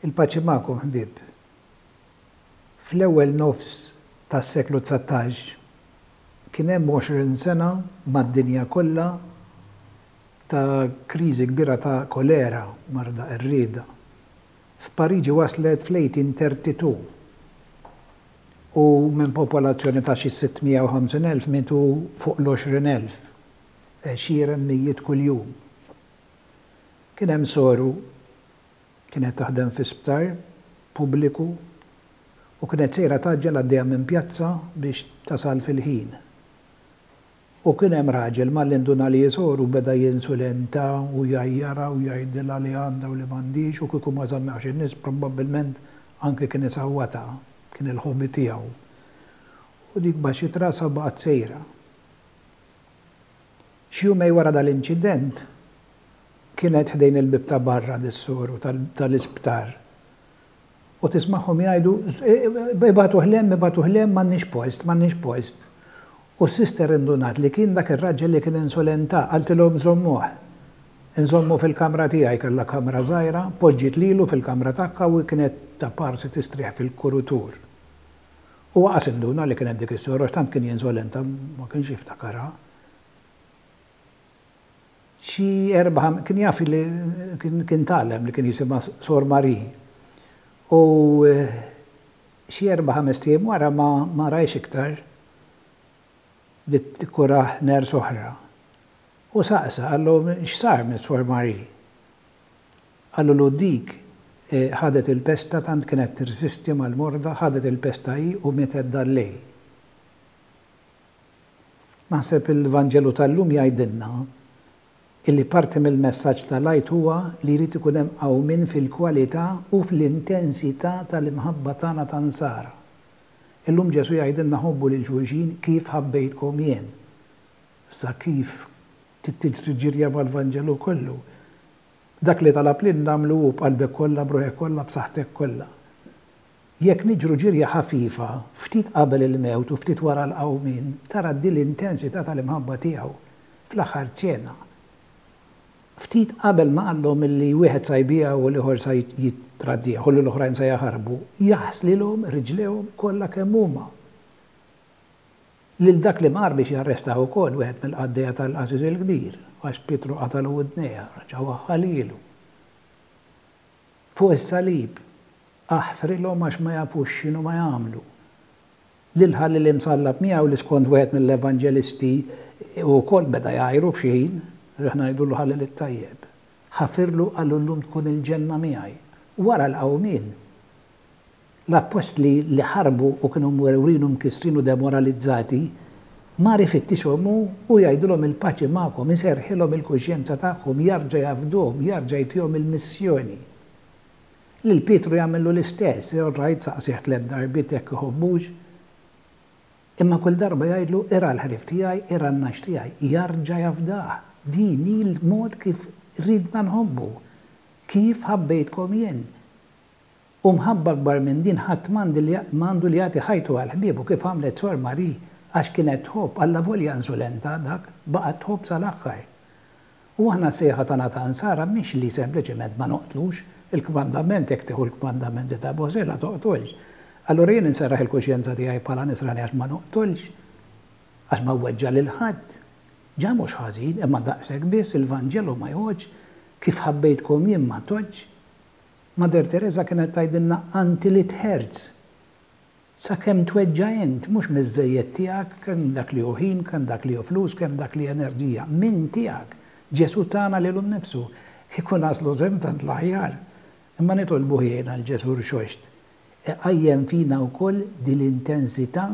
Il-paċi magħkom ħbieb. Fl-ewwel nofs tas-seklu 19 kien hemm 20 sena mad-dinja kollha ta' kriżi kbira ta' kolera, marda qerrieda. F'Pariġi waslet fl-1832 u minn popolazzjoni ta' xi 650,000 mietu fuq l-20,000, għexieren mijiet kuljum. Kien hemm soru kienet taħdem fi sptar pubbliku u kienet sejra tgħaġġel għaddejja minn pjazza biex tasal fil-ħin. U kien hemm raġel malli nduna li hi soru beda jinsulenta u jgħajjarha u jgħidilha li għandha u li m'għandhiex u kieku ma żammewhx in-nies probabbilment anke kien isawwatha, kien il-hobby tiegħu. U dik baxxiet rasha u baqgħet sejra. Xi jumejn wara dal-inċident, kienet ħdejn il-bieb ta' barra dis-soru tal-isptar u tismagħhom jgħidu, Ibagħtuh 'l hemm, ibagħtuh 'l hemm, m'għandniex post, m'għandniex post. U s-sister indunat li kien dak ir-raġel li kien insulenta, qaltilhom żommuh. Inżommu fil-kamra tiegħi, kellha kamra żgħira, poġġiet lilu fil-kamra tagħha u hi kienet ta' parsi tistrieħ fil-kurutur. Huwa qas induna li kienet dik is-soru għax tant kien jinsolenta ma kienx jiftakarha. Xi erba' kien jaf li kien tgħallem li kien jisimha Sor Marie. U xi erba' ħamest ijiem wara ma ma rajhx iktar. Bdiet tikkurah nurse oħra. U saqsa, qallu x'sar minn Sor Marie? Qalulu dik ħadet il-pesta tant kienet tirsisti mal-morda, ħadet il-pesta hi u mietet dal-lejl. Naħseb il-Vanġelu tal-lum jgħidilna illi parti mill-messaġġ tal-Għid huwa li jrid ikun hemm qawmien fil-kwalità u fl-intensità tal-imħabba tagħna ta' Nsara. Illum Ġesù jgħidilna ħobbu lil xulxin kif ħabbejtkom jien. Issa kif trid tiġri ġirja mal-Vanġelu kollu? Dak li talab lilna agħmlu hu b'qalbek kollha, b'ruħek kollha, b'saħħtek kollha. Jekk niġru ġirja ħafifa, ftit qabel il-mewt u ftit wara l-qawmien, tara din l-intensità tal-imħabba tiegħu. Fl-aħħar ċena, ftit qabel ma qallhom illi wieħed sa jbigħu u l-ieħor sa jittraddih u li l-oħrajn sa jaħarbu, jaħslilhom riġlejhom kollha kemm huma. Lil dak li mar biex jarrestah ukoll, wieħed mill-qaddejja tal-qassis il-kbir, għax Pietru qatagħlu widnejha, reġa' waħħalhielu. Fuq is-salib, aħfrilhom għax ma jafux x'inhuma jagħmlu. Lil ħalli li msallab miegħu li skont wieħed mill-evanġelisti hu wkoll beda jgħajru f'xi ħin, aħna ngħidulu ħalli lit-tajjeb. Ħafirlu qallu llum tkun il-ġenna miegħi. Wara l-qawmien, L-appostli li ħarbu u kienu mwerwrin u mkissrin u demoralizzati, mar ifittixhom hu u jgħidilhom il-paċi magħkom, iserrħilhom il-kuxjenza tagħhom, jarġa' jafdhom, jarġa' jtihom il-missjoni. Lil Pietru jagħmillu l-istess, all right saqsih tlett darbiet jekk iħobbux, imma kull darba jgħidlu irgħa l-ħrief tiegħi, irgħa n-nagħaġ tiegħi, jarġa' jafdah. Din hi l-mod kif ridna nħobbu. Kif ħabbejtkom jien. U mħabba akbar minn din ħadd m'għandi li m'għandu li jagħti ħajtu għal ħbiebu kif għamlet Sor Marie għax kienet tħobb, allavolja insulenta dak, baqgħet tħobb sal-aħħar. U aħna s-sejħa tagħna ta' Nsara mhix li sempliċement ma noqtlux, il-kmandament jekk tieħu l-kmandamenti ta' Mosè la toqtolx. Allura jien inserraħ il-kuxjenza tiegħi bħala Nisrani għax ma noqtolx? Għax ma weġġa' lil ħadd? Ġa mhux ħażin, imma daqshekk biss, il-Vanġelu ma jgħoddx, kif ħabbejtkom jien ma tgħoddx. Mother Teresa kienet tgħidilna until it hurts. Sakemm tweġġa' int, mhux miż-żejjed tiegħek, kemm dak li hu ħin, kemm dak li hu flus, kemm dak li enerġija, minn tiegħek. Ġesù tana lilu nnifsu. Kieku naslu s'hemm tant l-aħjar. Imma nitolbuh jgħinna 'l Ġesù Rxoxt iqajjem fina wkoll din l-intensità